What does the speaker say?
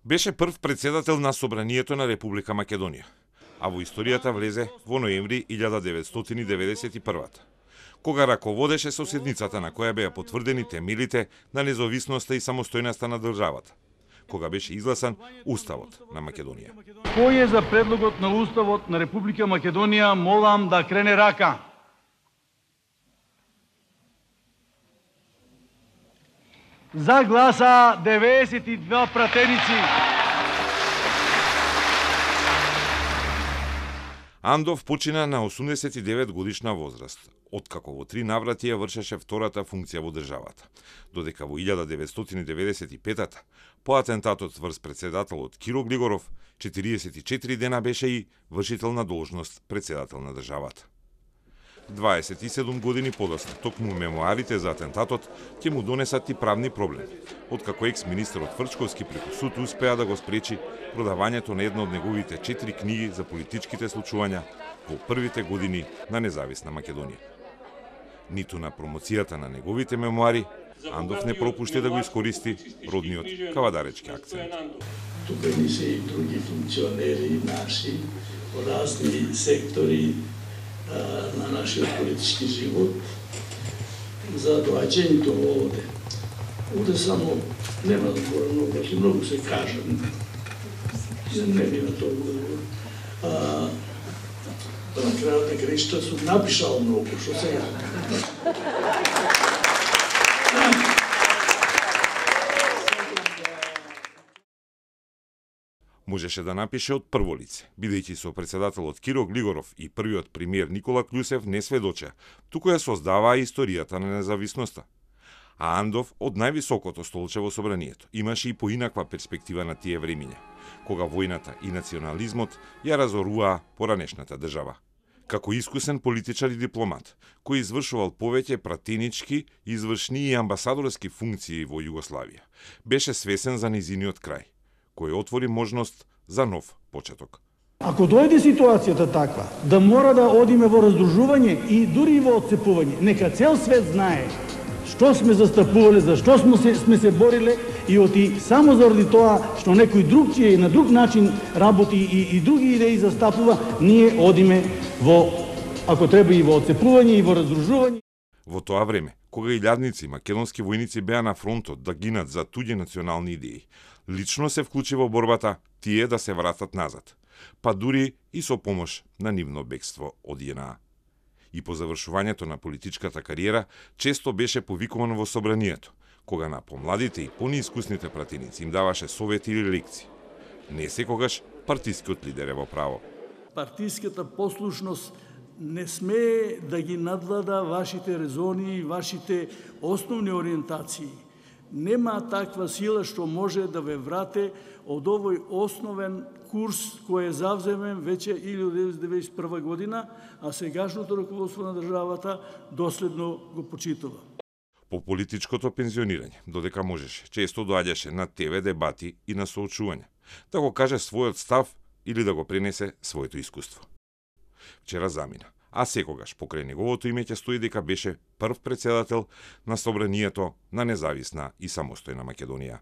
Беше прв председател на Собранието на Република Македонија, а во историјата влезе во ноември 1991 кога раководеше со седницата на која беа потврдени темелите на независноста и самостојноста на државата, кога беше изгласан Уставот на Македонија. Кој е за предлогот на Уставот на Република Македонија, молам да крене рака. За гласа 92 пратеници. Андов почина на 89 годишна возраст, откако во 3 наврати ја вршеше втората функција во државата, додека во 1995 по атентатот врз председателот Киро Глигоров, 44 дена беше и вршител на должност председател на државата. 27 години подоцна, токму мемуарите за атентатот ќе му донесат и правни проблеми, откако екс-министерот Фрчковски преку суд успеа да го спречи продавањето на една од неговите 4 книги за политичките случувања во првите години на независна Македонија. Ниту на промоцијата на неговите мемуари, Андов не пропушти да го искористи родниот кавадаречки акцент. Тука ни се и други функционери наши во разни сектори на нашиот политички живот за доаѓањето овде. Овде само нема да говорам многу, многу се кажа. Не би на толку. На крајот на краишта сум напишал многу, што сега. Можеше да напише од прво лице, бидејќи со председателот Киро Глигоров и првиот премиер Никола Клјусев не сведочеа, туку ја создаваа историјата на независноста. А Андов од највисокото столче во Собранието имаше и поинаква перспектива на тие времиња, кога војната и национализмот ја разоруваа поранешната држава. Како искусен политичар и дипломат, кој извршувал повеќе пратенички, извршни и амбасадорски функции во Југославија, беше свесен за низиниот крај, кој отвори можност за нов почеток. Ако дојде ситуацијата таква, да мора да одиме во раздружување и дури во отцепување, нека цел свет знае што сме застапувале, за што сме се бориле и оти само заради тоа што некој другчије и на друг начин работи и други идеи застапува, ние одиме во, ако треба и во отцепување и во раздружување. Во тоа време, кога илјадници македонски војници беа на фронтот да гинат за туѓи национални идеи, лично се вклучи во борбата тие да се вратат назад, па дури и со помош на нивно бегство од JNA. И по завршувањето на политичката кариера, често беше повикуван во Собранието, кога на помладите и понеискусните пратеници им даваше совети или лекции. Не секогаш партискиот лидер е во право. Партиската послушност не смее да ги надлада вашите резони и вашите основни ориентации. Нема таква сила што може да ве врате од овој основен курс кој е завземен веќе 1991 година, а сегашното раководство на државата доследно го почитува. По политичкото пензионирање, додека можеше, често доаѓаше на ТВ дебати и на соочување, да го каже својот став или да го пренесе своето искуство. Вчера замина, а секогаш покрај неговото име ќе стои дека беше прв председател на Собранието на независна и самостојна Македонија.